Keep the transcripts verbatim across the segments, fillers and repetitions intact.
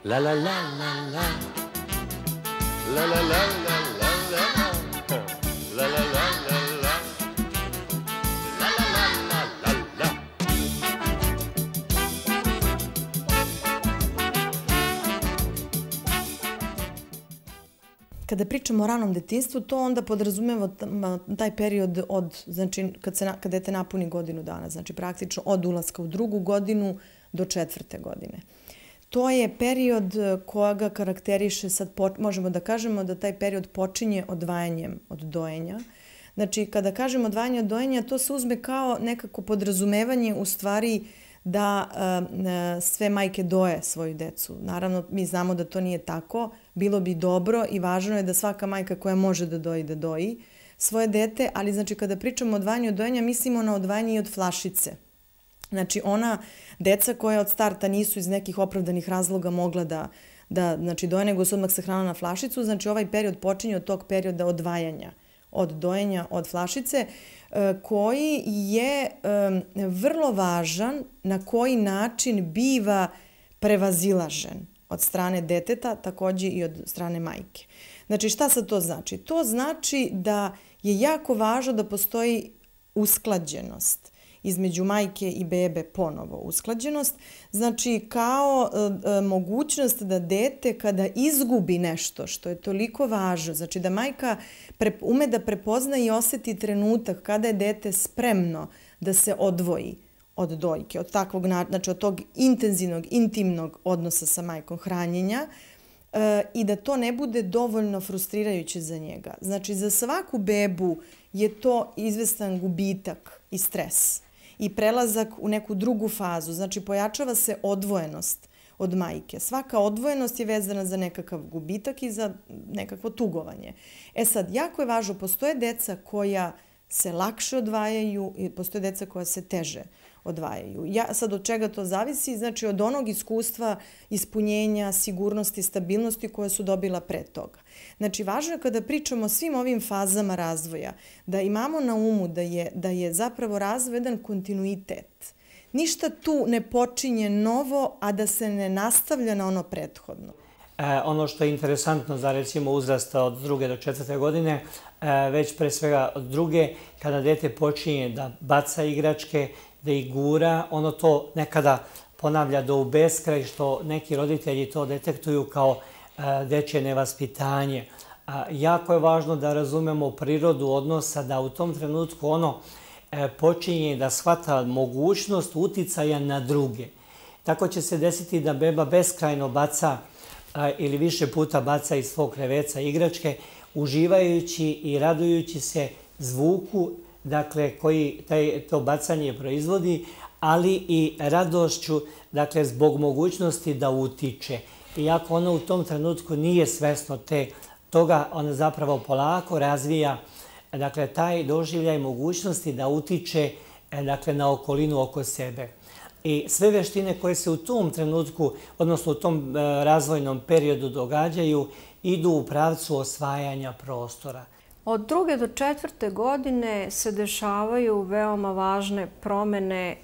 La la la la la. La la la la la la. La la la la la. La la la la la la. Kada pričamo o ranom detinjstvu, to onda podrazumeva taj period od, znači, kad se, kad dete napuni godinu dana, znači praktično od ulaska u drugu godinu do četvrte godine. To je period koga karakteriše, sad možemo da kažemo da taj period počinje odvajanjem od dojenja. Znači, kada kažemo odvajanje od dojenja, to se uzme kao nekako podrazumevanje u stvari da uh, sve majke doje svoju decu. Naravno, mi znamo da to nije tako. Bilo bi dobro i važno je da svaka majka koja može da doji, da doji svoje dete, ali znači kada pričamo o odvajanju od dojenja, mislimo na odvajanje i od flašice. Znači, ona deca koja od starta nisu iz nekih opravdanih razloga mogla da, da znači, doje, nego su odmah se hrana na flašicu, znači ovaj period počinje od tog perioda odvajanja, od dojenja, od flašice, koji je vrlo važan na koji način biva prevazilažen od strane deteta, takođe i od strane majke. Znači, šta sad to znači? To znači da je jako važno da postoji usklađenost između majke i bebe, ponovo usklađenost, znači kao e, mogućnost da dete kada izgubi nešto što je toliko važno, znači da majka pre, ume da prepozna i oseti trenutak kada je dete spremno da se odvoji od dojke, od takvog, znači od tog intenzivnog, intimnog odnosa sa majkom, hranjenja, e, i da to ne bude dovoljno frustrirajuće za njega. Znači, za svaku bebu je to izvestan gubitak i stres i prelazak u neku drugu fazu. Znači, pojačava se odvojenost od majke. Svaka odvojenost je vezana za nekakav gubitak i za nekakvo tugovanje. E sad, jako je važno, postoje deca koja se lakše odvajaju i postoje deca koja se teže odvajaju. Ja, sad, od čega to zavisi? Znači, od onog iskustva, ispunjenja, sigurnosti, stabilnosti koje su dobila pre toga. Znači, važno je kada pričamo o svim ovim fazama razvoja, da imamo na umu da je, da je zapravo razvoj jedan kontinuitet. Ništa tu ne počinje novo, a da se ne nastavlja na ono prethodno. E, ono što je interesantno za, recimo, uzrasta od druge do četvrte godine, e, već pre svega od druge, kada dete počinje da baca igračke, da ih gura, ono to nekada ponavlja do u beskraj, što neki roditelji to detektuju kao dečje nevaspitanje. Jako je važno da razumemo prirodu odnosa, da u tom trenutku ono počinje da shvata mogućnost uticaja na druge. Tako će se desiti da beba beskrajno baca ili više puta baca iz svog kreveca igračke, uživajući i radujući se zvuku, dakle, koji taj, to bacanje proizvodi, ali i radošću, dakle, zbog mogućnosti da utiče. Iako ona u tom trenutku nije svesno te, toga, ona zapravo polako razvija, dakle, taj doživljaj mogućnosti da utiče, dakle, na okolinu oko sebe. I sve veštine koje se u tom trenutku, odnosno u tom razvojnom periodu događaju, idu u pravcu osvajanja prostora. Od druge do četvrte godine se dešavaju veoma važne promene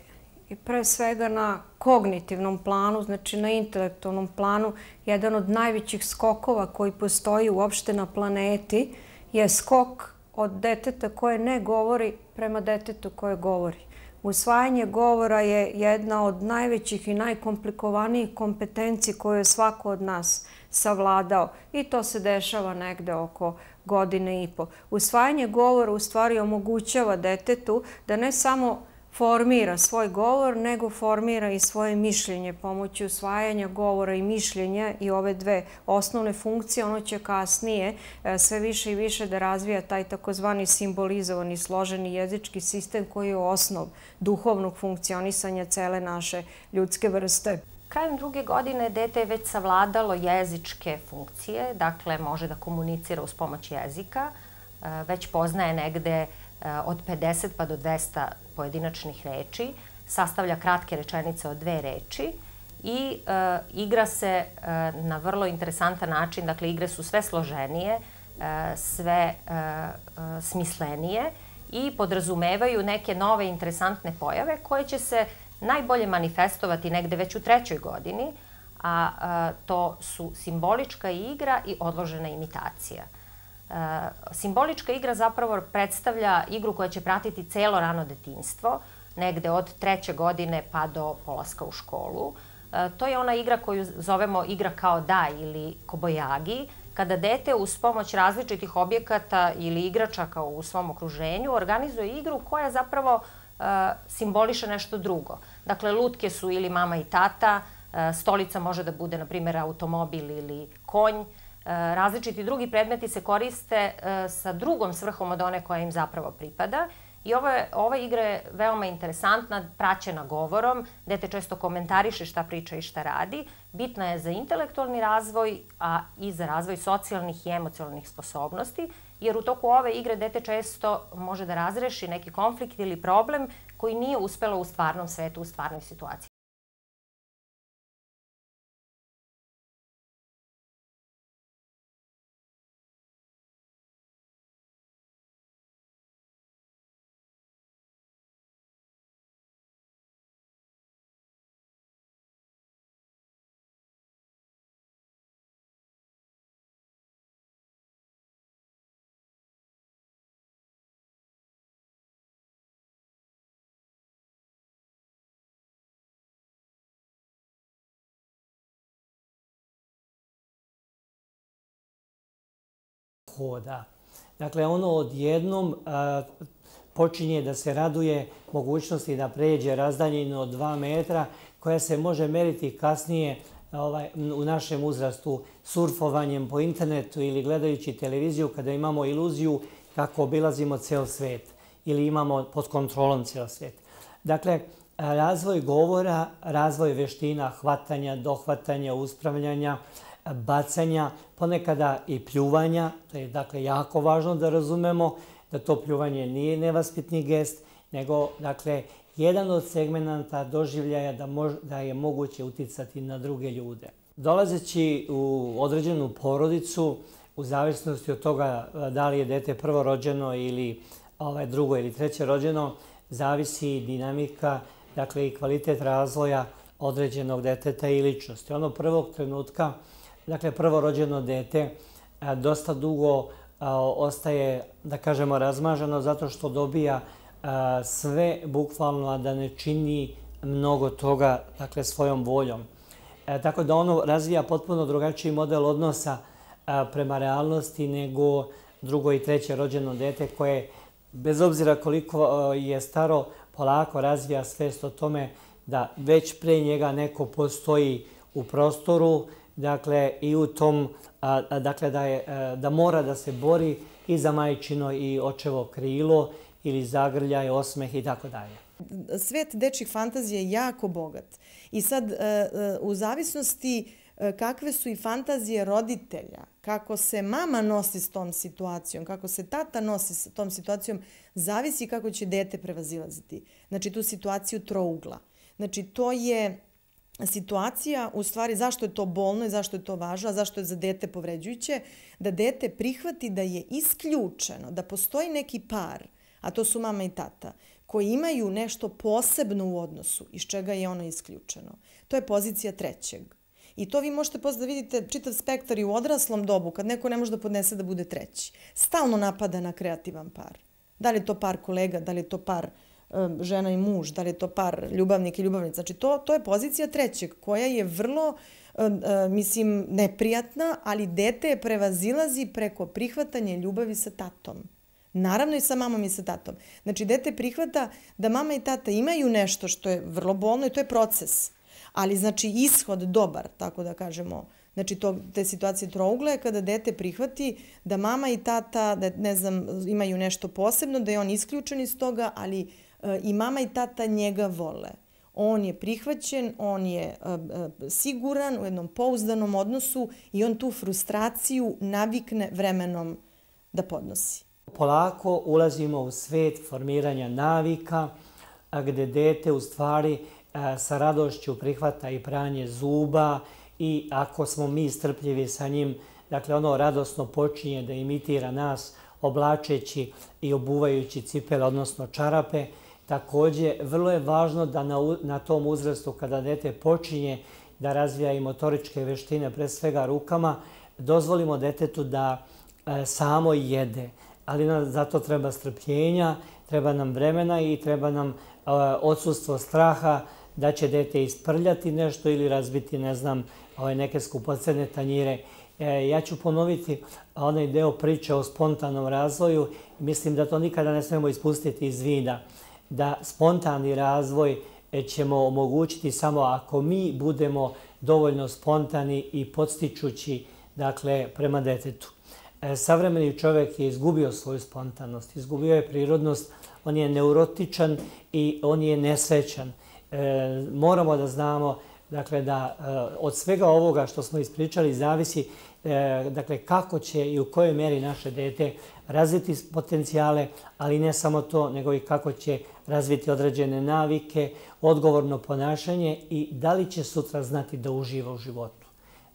i pre svega na kognitivnom planu, znači na intelektualnom planu. Jedan od najvećih skokova koji postoji uopšte na planeti je skok od deteta koje ne govori prema detetu koje govori. Usvajanje govora je jedna od najvećih i najkomplikovanijih kompetenci koju je svako od nas savladao i to se dešava negde oko godine i po. Usvajanje govora u stvari omogućava detetu da ne samo formira svoj govor, nego formira i svoje mišljenje. Pomoću usvajanja govora i mišljenja i ove dve osnovne funkcije, ono će kasnije sve više i više da razvija taj takozvani simbolizovani složeni jezički sistem koji je osnov duhovnog funkcionisanja cele naše ljudske vrste. Krajem druge godine dete je već savladalo jezičke funkcije, dakle može da komunicira uz pomoć jezika, već poznaje negde od pedeset pa do dvesta pojedinačnih reči, sastavlja kratke rečenice od dve reči i e, igra se e, na vrlo interesantan način, dakle igre su sve složenije, e, sve e, e, smislenije i podrazumevaju neke nove interesantne pojave koje će se najbolje manifestovati negde već u trećoj godini, a to su simbolička igra i odložena imitacija. Simbolička igra zapravo predstavlja igru koja će pratiti celo rano detinjstvo, negde od treće godine pa do polaska u školu. To je ona igra koju zovemo igra kao da ili kobojagi, kada dete uz pomoć različitih objekata ili igračaka u svom okruženju organizuje igru koja zapravo simboliše nešto drugo. Dakle, lutke su ili mama i tata, stolica može da bude, na primjer, automobil ili konj. Različiti drugi predmeti se koriste sa drugom svrhom od one koja im zapravo pripada. I ova igra je veoma interesantna, praćena govorom, dete često komentariše šta priča i šta radi. Bitna je za intelektualni razvoj, a i za razvoj socijalnih i emocionalnih sposobnosti, jer u toku ove igre dete često može da razreši neki konflikt ili problem koji nije uspelo u stvarnom svetu, u stvarnoj situaciji. Hoda. Dakle, ono odjednom a, počinje da se raduje mogućnosti da pređe razdaljinu od dva metra koja se može meriti kasnije ovaj, u našem uzrastu surfovanjem po internetu ili gledajući televiziju kada imamo iluziju kako obilazimo ceo svet ili imamo pod kontrolom ceo svet. Dakle, razvoj govora, razvoj veština hvatanja, dohvatanja, uspravljanja, bacanja, ponekada i pljuvanja. To je dakle jako važno da razumemo da to pljuvanje nije nevaspitni gest, nego dakle jedan od segmenata doživljaja da, mož, da je moguće uticati na druge ljude. Dolazeći u određenu porodicu, u zavisnosti od toga da li je dete prvorođeno ili ovaj, drugo ili treće rođeno, zavisi dinamika, dakle i kvalitet razvoja određenog deteta i ličnosti. Ono prvog trenutka, dakle prvorođeno dete, dosta dugo ostaje, da kažemo, razmaženo zato što dobija sve bukvalno da ne čini mnogo toga, dakle svojom voljom. E, tako da ono razvija potpuno drugačiji model odnosa a, prema realnosti nego drugo i treće rođeno dete koje, bez obzira koliko a, je staro, polako razvija svest o tome da već pre njega neko postoji u prostoru, dakle i u tom, a, a, dakle da, je, a, da mora da se bori i za majčino i očevo krilo ili zagrljaj, osmeh i tako dalje. Svet dečjih fantazija je jako bogat. I sad, u zavisnosti kakve su i fantazije roditelja, kako se mama nosi s tom situacijom, kako se tata nosi s tom situacijom, zavisi kako će dete prevazilaziti. Znači, tu situaciju trougla. Znači, to je situacija, u stvari, zašto je to bolno i zašto je to važno, a zašto je za dete povređujuće, da dete prihvati da je isključeno, da postoji neki par, a to su mama i tata, koji imaju nešto posebno u odnosu, iz čega je ono isključeno. To je pozicija trećeg. I to vi možete posle da vidite čitav spektar i u odraslom dobu, kad neko ne može da podnese da bude treći. Stalno napada na kreativan par. Da li je to par kolega, da li je to par um, žena i muž, da li je to par ljubavnik i ljubavnica. Znači, to, to je pozicija trećeg, koja je vrlo, um, uh, mislim, neprijatna, ali dete je prevazilazi preko prihvatanja ljubavi sa tatom. Naravno i sa mamom i sa tatom. Znači, dete prihvata da mama i tata imaju nešto što je vrlo bolno i to je proces. Ali, znači, ishod dobar, tako da kažemo, znači, to, te situacije trougle je kada dete prihvati da mama i tata, da, ne znam, imaju nešto posebno, da je on isključen iz toga, ali e, i mama i tata njega vole. On je prihvaćen, on je e, e, siguran u jednom pouzdanom odnosu i on tu frustraciju navikne vremenom da podnosi. Polako ulazimo u svet formiranja navika, gde dete u stvari sa radošću prihvata i pranje zuba i ako smo mi strpljivi sa njim, dakle ono radosno počinje da imitira nas oblačeći i obuvajući cipele, odnosno čarape. Također, vrlo je važno da na, na tom uzrastu kada dete počinje da razvija i motoričke veštine, pre svega rukama, dozvolimo detetu da samo jede, ali nam zato treba strpljenja, treba nam vremena i treba nam odsustvo straha da će dete isprljati nešto ili razbiti, ne znam, neke skupocene tanjire. Ja ću ponoviti onaj deo priče o spontanom razvoju. Mislim da to nikada ne smemo ispustiti iz vida. Da spontani razvoj ćemo omogućiti samo ako mi budemo dovoljno spontani i podstičući, dakle, prema detetu. Savremeni čovjek je izgubio svoju spontanost, izgubio je prirodnost, on je neurotičan i on je nesrećan. Moramo da znamo, dakle, da od svega ovoga što smo ispričali zavisi, dakle, kako će i u kojoj mjeri naše dete razviti potencijale, ali ne samo to, nego i kako će razviti određene navike, odgovorno ponašanje i da li će sutra znati da uživa u životu.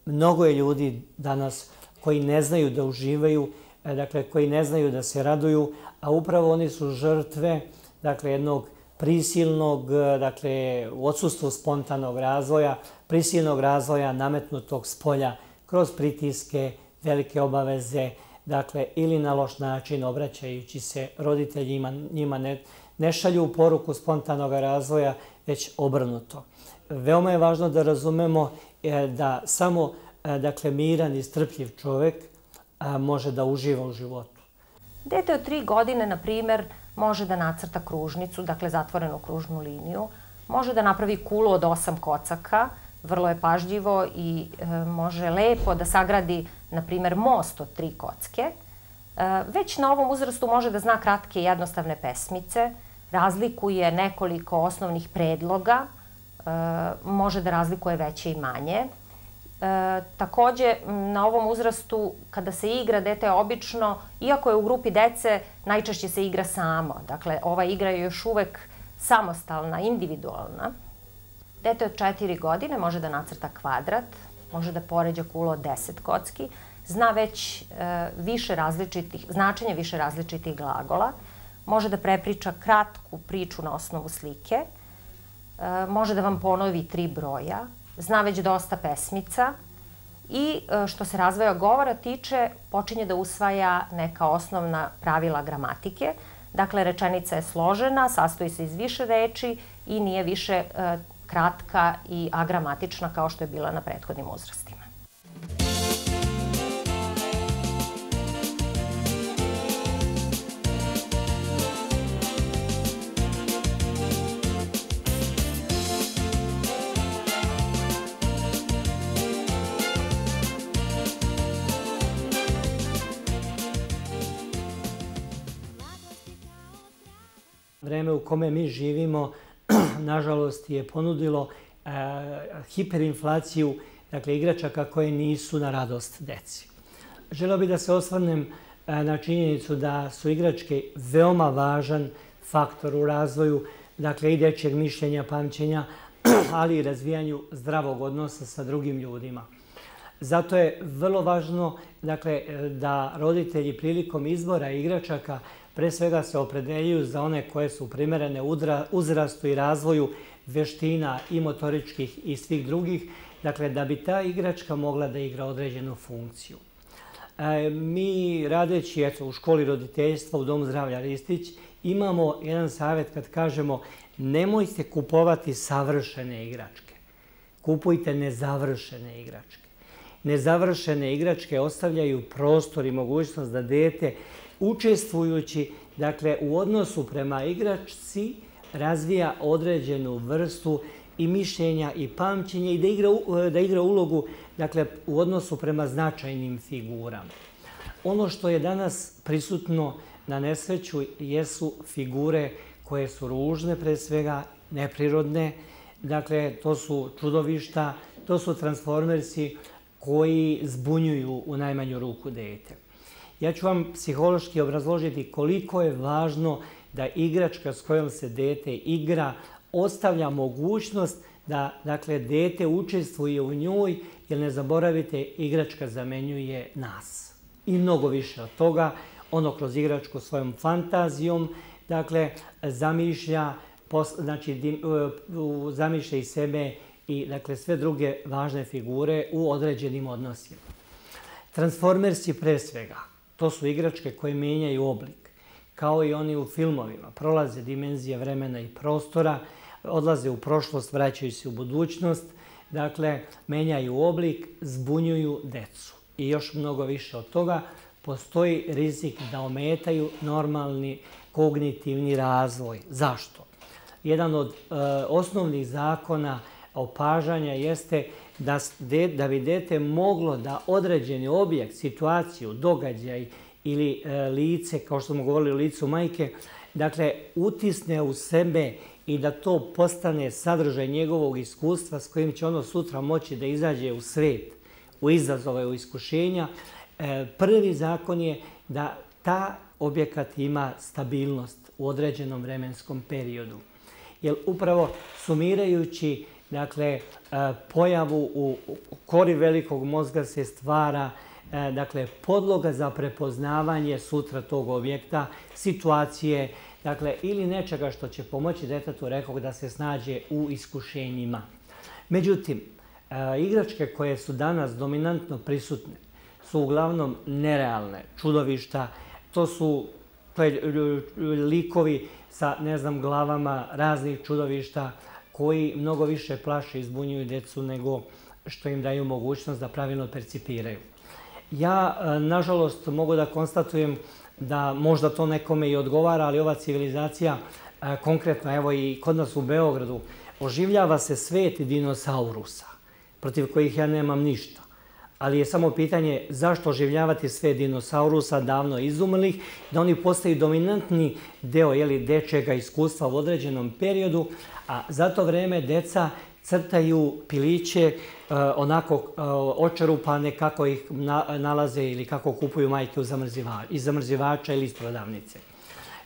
Mnogo je ljudi danas koji ne znaju da uživaju, dakle, koji ne znaju da se raduju, a upravo oni su žrtve, dakle, jednog prisilnog, dakle, u odsustvu spontanog razvoja, prisilnog razvoja nametnutog s polja kroz pritiske, velike obaveze, dakle, ili na loš način obraćajući se roditeljima, njima ne, ne šalju poruku spontanog razvoja, već obrnuto. Veoma je važno da razumemo da samo, dakle, miran i strpljiv čovjek može da uživa u životu. Dete od tri godine, na primjer, može da nacrta kružnicu, dakle zatvorenu kružnu liniju, može da napravi kulu od osam kocaka, vrlo je pažljivo i e, može lepo da sagradi, na primjer, most od tri kocke. E, već na ovom uzrastu može da zna kratke i jednostavne pesmice, razlikuje nekoliko osnovnih predloga, e, može da razlikuje veće i manje. E, takođe, na ovom uzrastu, kada se igra, dete obično, iako je u grupi dece, najčešće se igra samo. Dakle, ova igra je još uvek samostalna, individualna. Dete od četiri godine može da nacrta kvadrat, može da poređa kulu od deset kocki, zna već e, više različitih, značenje više različitih glagola, može da prepriča kratku priču na osnovu slike, e, može da vam ponovi tri broja, zna već dosta pesmica i što se razvoja govora tiče, počinje da usvaja neka osnovna pravila gramatike. Dakle, rečenica je složena, sastoji se iz više reči i nije više e, kratka i agramatična kao što je bila na prethodnim uzrastima. Vreme u kome mi živimo, nažalost, je ponudilo e, hiperinflaciju, dakle, igračaka koje nisu na radost deci. Želeo bih da se osvrnem e, na činjenicu da su igračke veoma važan faktor u razvoju, dakle, i dečjeg mišljenja, pamćenja, ali i razvijanju zdravog odnosa sa drugim ljudima. Zato je vrlo važno, dakle, da roditelji prilikom izbora igračaka pre svega se opredeljuju za one koje su primerene uzrastu i razvoju veština i motoričkih i svih drugih, dakle, da bi ta igračka mogla da igra određenu funkciju. E, mi radeći, eto, u školi roditeljstva u Domu zdravlja Ristić imamo jedan savjet kad kažemo nemojte kupovati savršene igračke, kupujte nezavršene igračke. Nezavršene igračke ostavljaju prostor i mogućnost da dete učestvujući, dakle, u odnosu prema igračci razvija određenu vrstu i mišljenja i pamćenja i da igra, da igra ulogu, dakle, u odnosu prema značajnim figurama. Ono što je danas prisutno na nesreću jesu figure koje su ružne, pre svega neprirodne, dakle, to su čudovišta, to su transformersi koji zbunjuju u najmanju ruku dete. Ja ću vam psihološki obrazložiti koliko je važno da igračka s kojom se dete igra ostavlja mogućnost da, dakle, dete učestvuje u njoj, jer ne zaboravite, igračka zamenjuje nas. I mnogo više od toga, ono kroz igračku svojom fantazijom, dakle, zamišlja, znači, zamišlja i sebe i dakle sve druge važne figure u određenim odnosima. Transformersi pre svega, to su igračke koje mijenjaju oblik, kao i oni u filmovima, prolaze dimenzije vremena i prostora, odlaze u prošlost, vraćaju se u budućnost, dakle, menjaju oblik, zbunjuju decu. I još mnogo više od toga, postoji rizik da ometaju normalni kognitivni razvoj. Zašto? Jedan od e, osnovnih zakona opažanja jeste da, da bi dete moglo da određeni objekt, situaciju, događaj ili e, lice, kao što smo govorili o licu majke, dakle, utisne u sebe i da to postane sadržaj njegovog iskustva s kojim će ono sutra moći da izađe u svet, u izazove, u iskušenja. E, prvi zakon je da ta objekat ima stabilnost u određenom vremenskom periodu. Jer upravo sumirajući, dakle, pojavu u kori velikog mozga se stvara, dakle, podloga za prepoznavanje sutra tog objekta, situacije, dakle, ili nečega što će pomoći detetu, rekao, da se snađe u iskušenjima. Međutim, igračke koje su danas dominantno prisutne su uglavnom nerealne, čudovišta, to su to je, likovi sa, ne znam, glavama raznih čudovišta koji mnogo više plaše i zbunjuju decu nego što im daju mogućnost da pravilno percipiraju. Ja, nažalost, mogu da konstatujem da možda to nekome i odgovara, ali ova civilizacija, konkretno evo i kod nas u Beogradu, oživljava se svet dinosaurusa, protiv kojih ja nemam ništa. Ali je samo pitanje zašto oživljavati sve dinosaurusa davno izumrlih, da oni postaju dominantni deo jeli, dečjega iskustva u određenom periodu, a za to vreme deca crtaju piliće onako očerupane kako ih nalaze ili kako kupuju majke iz zamrzivača ili iz prodavnice.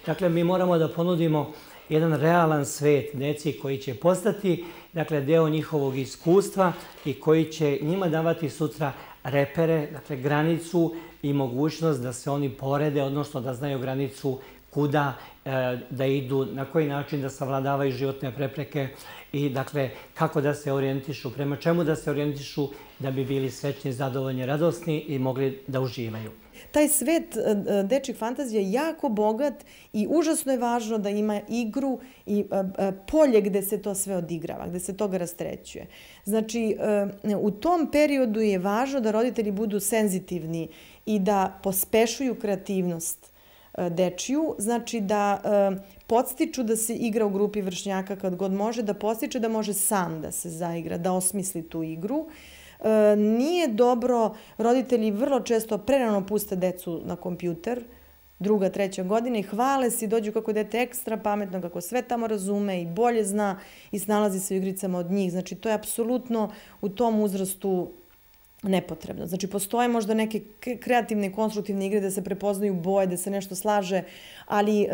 Dakle, mi moramo da ponudimo jedan realan svet deci koji će postati, dakle, deo njihovog iskustva i koji će njima davati sutra repere, dakle, granicu i mogućnost da se oni porede, odnosno da znaju granicu kuda da idu, na koji način da savladavaju životne prepreke i, dakle, kako da se orijentišu, prema čemu da se orijentišu da bi bili srećni, zadovoljni, radosni i mogli da uživaju. Taj svet dečjih fantazija je jako bogat i užasno je važno da ima igru i polje gde se to sve odigrava, gde se toga rastrećuje. Znači, u tom periodu je važno da roditelji budu senzitivni i da pospešuju kreativnost dečiju, znači da podstiču da se igra u grupi vršnjaka kad god može, da podstiče da može sam da se zaigra, da osmisli tu igru. Nije dobro, roditelji vrlo često prerano puste decu na kompjuter, druga, treća godina i hvale se i dođu kako dete ekstra pametno, kako sve tamo razume i bolje zna i snalazi se u igricama od njih. Znači, to je apsolutno u tom uzrastu nepotrebno. Znači, postoje možda neke kreativne i konstruktivne igre da se prepoznaju boje, da se nešto slaže, ali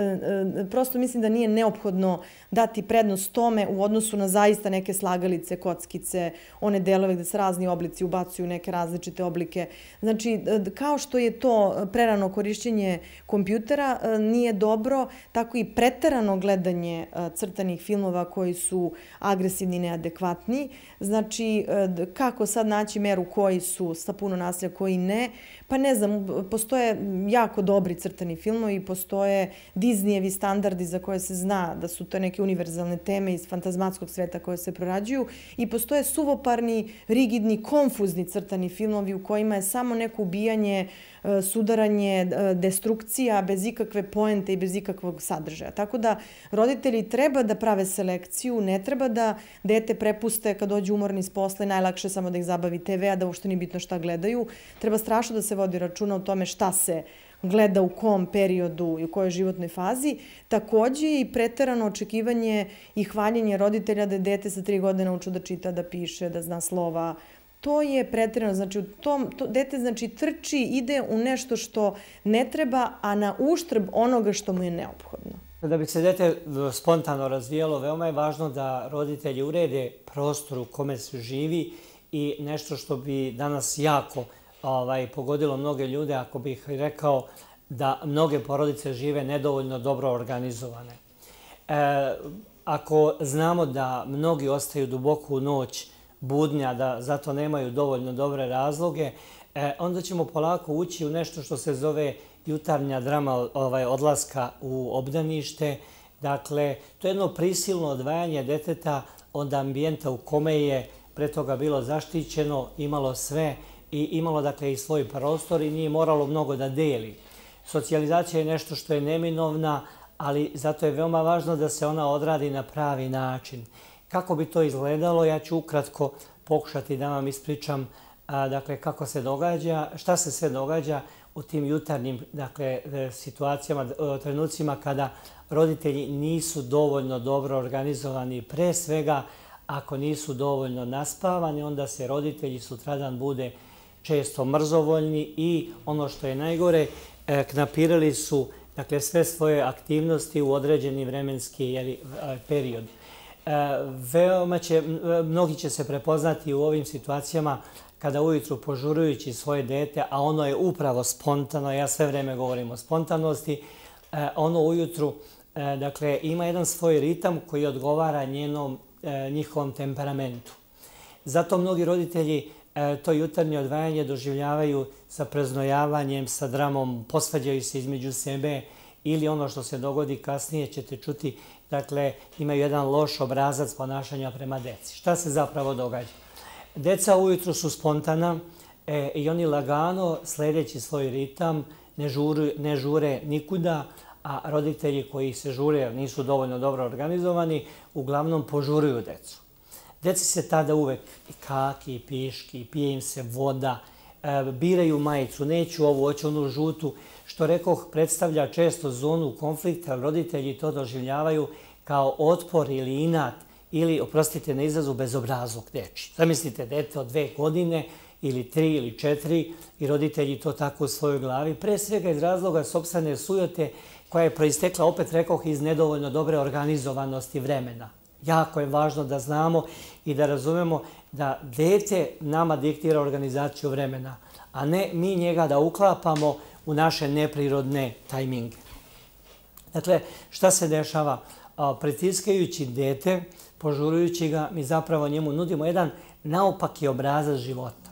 prosto mislim da nije neophodno dati prednost tome u odnosu na zaista neke slagalice, kockice, one delove gde se razni oblici ubacuju neke različite oblike. Znači, kao što je to prerano korišćenje kompjutera nije dobro, tako i preterano gledanje crtanih filmova koji su agresivni i neadekvatni. Znači, kako sad naći meru koji su sa puno nasilja, koji ne. Pa ne znam, postoje jako dobri crtani filmovi, postoje Disneyevi standardi za koje se zna da su to neke univerzalne teme iz fantazmatskog sveta koje se prorađuju i postoje suvoparni, rigidni, konfuzni crtani filmovi u kojima je samo neko ubijanje, sudaranje, destrukcija bez ikakve poente i bez ikakvog sadržaja. Tako da roditelji treba da prave selekciju, ne treba da dete prepuste kad dođu umorni s posla i najlakše samo da ih zabavi te ve, a da uopšte nije bitno šta gledaju. Treba strašno da se vodi računa o tome šta se gleda u kom periodu i u kojoj životnoj fazi. Takođe i preterano očekivanje i hvaljenje roditelja da je dete sa tri godine naučio da čita, da piše, da zna slova. To je preterano. Znači, u tom, to, dete znači, trči, ide u nešto što ne treba, a na uštrb onoga što mu je neophodno. Da bi se dete spontano razvijalo, veoma je važno da roditelji urede prostor u kome se živi i nešto što bi danas jako ovaj, pogodilo mnoge ljude, ako bih rekao da mnoge porodice žive nedovoljno dobro organizovane. E, ako znamo da mnogi ostaju duboko u noć budnja, da zato nemaju dovoljno dobre razloge, onda ćemo polako ući u nešto što se zove jutarnja drama odlaska u obdanište. Dakle, to je jedno prisilno odvajanje deteta od ambijenta u kome je pre toga bilo zaštićeno, imalo sve i imalo dakle i svoj prostor i nije moralo mnogo da deli. Socijalizacija je nešto što je neminovna, ali zato je veoma važno da se ona odradi na pravi način. Kako bi to izgledalo, ja ću ukratko pokušati da vam ispričam dakle, kako se događa, šta se sve događa u tim jutarnjim dakle, situacijama, trenucima kada roditelji nisu dovoljno dobro organizovani. Pre svega, ako nisu dovoljno naspavani, onda se roditelji sutradan bude često mrzovoljni i ono što je najgore, knapirali su dakle, sve svoje aktivnosti u određeni vremenski jeli, period. Veoma će, mnogi će se prepoznati u ovim situacijama kada ujutru požurujući svoje dete, a ono je upravo spontano, ja sve vreme govorim o spontanosti, ono ujutru dakle, ima jedan svoj ritam koji odgovara njenom, njihovom temperamentu. Zato mnogi roditelji to jutarnje odvajanje doživljavaju sa preznojavanjem, sa dramom, posvađaju se između sebe ili ono što se dogodi kasnije ćete čuti, dakle, imaju jedan loš obrazac ponašanja prema deci. Šta se zapravo događa? Deca ujutru su spontana e, i oni lagano, sledeći svoj ritam, ne, žuru, ne žure nikuda, a roditelji koji se žure, nisu dovoljno dobro organizovani, uglavnom požuruju decu. Deci se tada uvek i kaki, i piški, pije im se voda, e, biraju majicu, neću ovu, hoću onu žutu, što rekoh predstavlja često zonu konflikta, roditelji to doživljavaju kao otpor ili inat, ili, oprostite na izrazu, bezobrazluk deči. Zamislite dete od dve godine ili tri ili četiri i roditelji to tako u svojoj glavi, pre svega iz razloga sopstvene sujote koja je proistekla, opet rekoh, iz nedovoljno dobre organizovanosti vremena. Jako je važno da znamo i da razumemo da dete nama diktira organizaciju vremena, a ne mi njega da uklapamo u naše neprirodne tajminge. Dakle, šta se dešava? Pritiskajući dete, požurujući ga, mi zapravo njemu nudimo jedan naopaki obrazac života.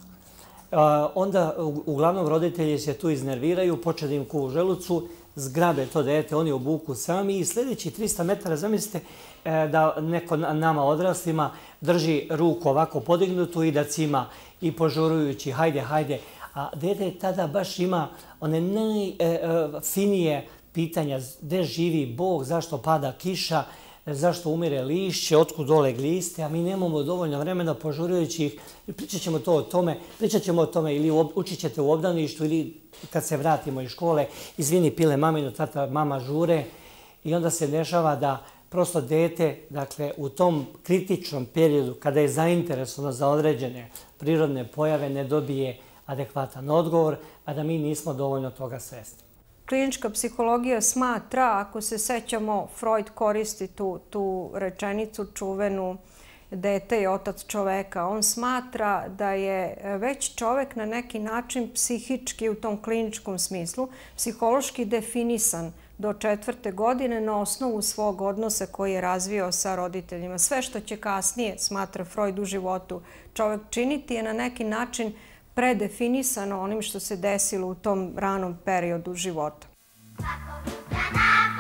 Onda, uglavnom, roditelji se tu iznerviraju, počne da im kuva u želucu, zgrabe to dete, oni obuku sami i sljedeći tristo metara, zamislite da neko nama odraslima drži ruku ovako podignutu i da cima i požurujući, hajde, hajde. A dete tada baš ima one najfinije pitanja, gde živi Bog, zašto pada kiša, zašto umire lišće, otkud dole gliste, a mi nemamo dovoljno vremena požurujući ih. Pričat ćemo to o tome, pričat ćemo o tome ili učit ćete u obdaništu ili kad se vratimo iz škole, izvini pile maminu, tata, mama žure. I onda se dešava da prosto dete, dakle, u tom kritičnom periodu, kada je zainteresovano za određene prirodne pojave, ne dobije adekvatan odgovor, a da mi nismo dovoljno toga svesni. Klinička psihologija smatra, ako se sećamo, Freud koristi tu, tu rečenicu čuvenu dete je otac čoveka. On smatra da je već čovek na neki način psihički u tom kliničkom smislu, psihološki definisan do četvrte godine na osnovu svog odnosa koji je razvio sa roditeljima. Sve što će kasnije, smatra Freud, u životu čovek činiti je na neki način predefinisano onim što se desilo u tom ranom periodu života. Kako da